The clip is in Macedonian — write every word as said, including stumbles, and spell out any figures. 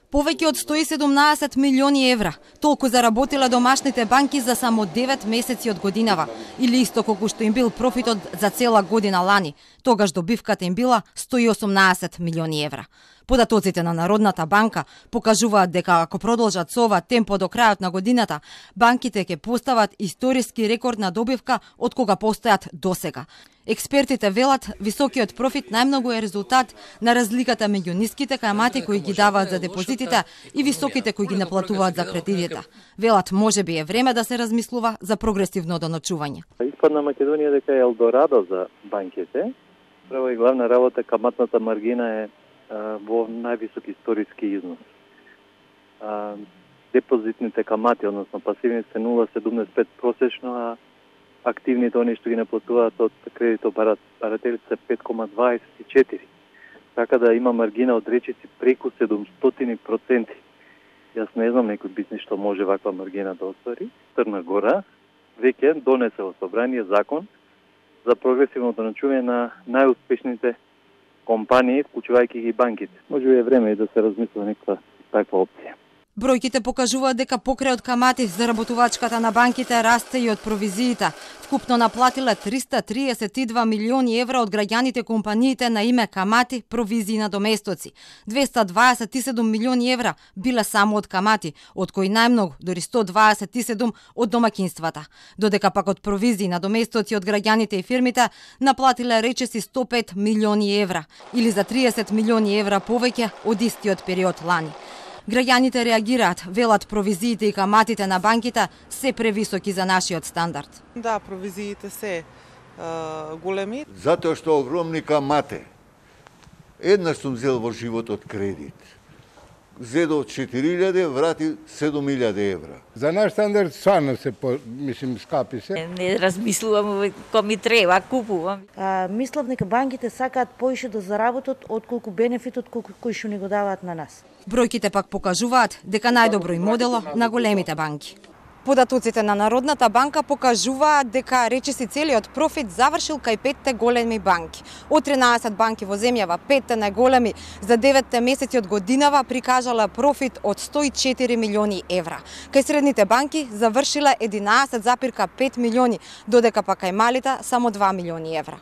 Повеќе од сто и седумнаесет милиони евра. Толку заработиле домашните банки за само девет месеци од годинава, или исто колку што им бил профитот за цела година лани. Тогаш добивката им била сто и осумнаесет милиони евра. Податоците на Народната банка покажуваат дека ако продолжат со ова темпо до крајот на годината, банките ќе постават историски рекорд на добивка од кога постојат досега. Експертите велат високиот профит најмногу е резултат на разликата меѓу ниските камати кои ги даваат за депозитите и високите кои ги наплатуваат за кредитите. Велат можеби е време да се размислува за прогресивно доночување. Испадна Македонија дека е елдорадо за банките. Прва и главна работа каматната маргина е а, во највисок историски износ. А, депозитните камати, односно пасивните се нула целу седумдесет и пет просечно, а активните, они што ги наплатуваат од кредитоопаратерите се пет целу дваесет и четири. Така да има маргина од речиси преку седумстотини проценти. Јас не знам некој бизнис што може ваква маргина да оствари. Црна Гора веќе донесе во собрание закон за прогресивно доночување на најуспешните компании, вклучувајќи ги банките. Може би е време и да се размисли некаква таква опција. Бројките покажуваат дека покрај од камати заработувачката на банките расте и од провизиите. Вкупно наплатиле триста триесет и два милиони евра од граѓаните компаниите на име камати, провизии и надоместоци. двеста дваесет и седум милиони евра биле само од камати, од кои најмногу, дори сто дваесет и седум од домакинствата. Додека пак од провизии и надоместоци од граѓаните и фирмите наплатиле речиси сто пет милиони евра, или за триесет милиони евра повеќе од истиот период лани. Граѓаните реагираат, велат провизиите и каматите на банките се превисоки за нашиот стандард. Да, провизиите се е, големи. Затоа што огромни камати. Еднаш сум зел во животот кредит. Зедо четири илјади, врати седум илјади евра. За наш стандард стварно се, по, мислим, скапи се. Не размислувам кој ми треба, купувам. А, мислам дека банките сакаат поише да заработат отколку бенефитот кој што ни го даваат на нас. Бројките пак покажуваат дека најдобро и модело на големите банки. Податоците на Народната банка покажуваат дека речиси целиот профит завршил кај петте големи банки. Од тринаесет банки во земјава, петте најголеми за деветте месеци од годинава прикажале профит од сто и четири милиони евра. Кај средните банки завршиле единаесет запирка пет милиони, додека па кај малите само два милиони евра.